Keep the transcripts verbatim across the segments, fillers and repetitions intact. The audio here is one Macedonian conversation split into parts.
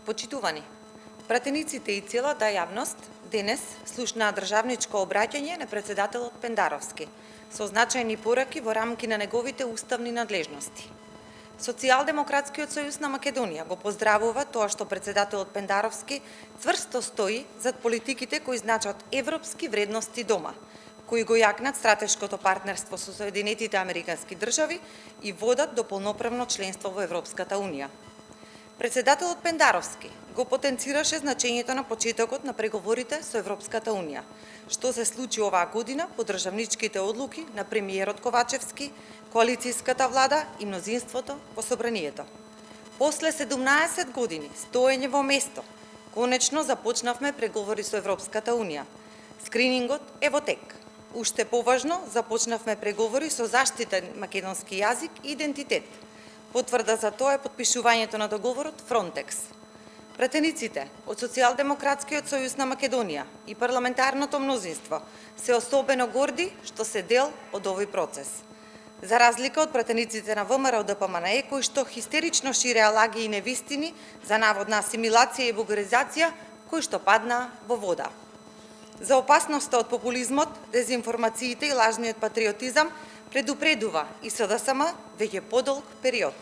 Почитувани, пратениците и целата јавност денес слушнаа државничко обраќање на председателот Пендаровски со значајни пораки во рамки на неговите уставни надлежности. Социјалдемократскиот сојуз на Македонија го поздравува тоа што председателот Пендаровски цврсто стои зад политиките кои значат европски вредности дома, кои го јакнат стратешкото партнерство со Соединетите Американски држави и водат до полноправно членство во Европската унија. Председателот Пендаровски го потенцираше значењето на почетокот на преговорите со Европската унија, што се случи оваа година по државничките одлуки на премиерот Ковачевски, коалицијската влада и мнозинството во собранието. После седумнаесет години стоење во место, конечно започнавме преговори со Европската унија. Скринингот е во тек. Уште поважно, започнавме преговори со заштитен македонски јазик и идентитет. Потврда за тоа е потпишувањето на договорот Фронтекс. Пратениците од Социјалдемократскиот сојуз на Македонија и парламентарното мнозинство се особено горди што се дел од овој процес. За разлика од пратениците на ВМРО Д П М Н Е, кои што хистерично ширеа лаги и невистини за наводна асимилација и бугаризација, кои што паднаа во вода. За опасноста од популизмот, дезинформациите и лажниот патриотизам предупредува и С Д С М веќе подолг период.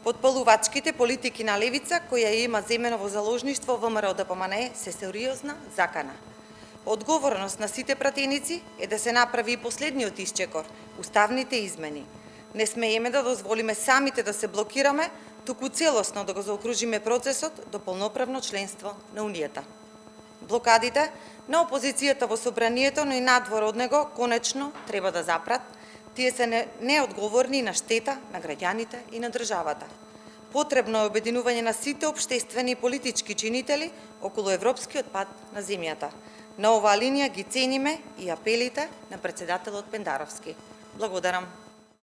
Потпалувачките политики на левица, која има земено во заложништво ВМРО Д П М Н Е, се сериозна закана. Одговорност на сите пратеници е да се направи и последниот исчекор, уставните измени. Не смееме да дозволиме самите да се блокираме, туку целосно да го заокружиме процесот до полноправно членство на Унијата. Блокадите на опозицијата во собранието, но и надвор од него, конечно треба да запрат. Тие се неодговорни на штета на граѓаните и на државата. Потребно е обединување на сите општествени и политички чинители околу европскиот пат на земјата. На оваа линија ги цениме и апелите на председателот Пендаровски. Благодарам.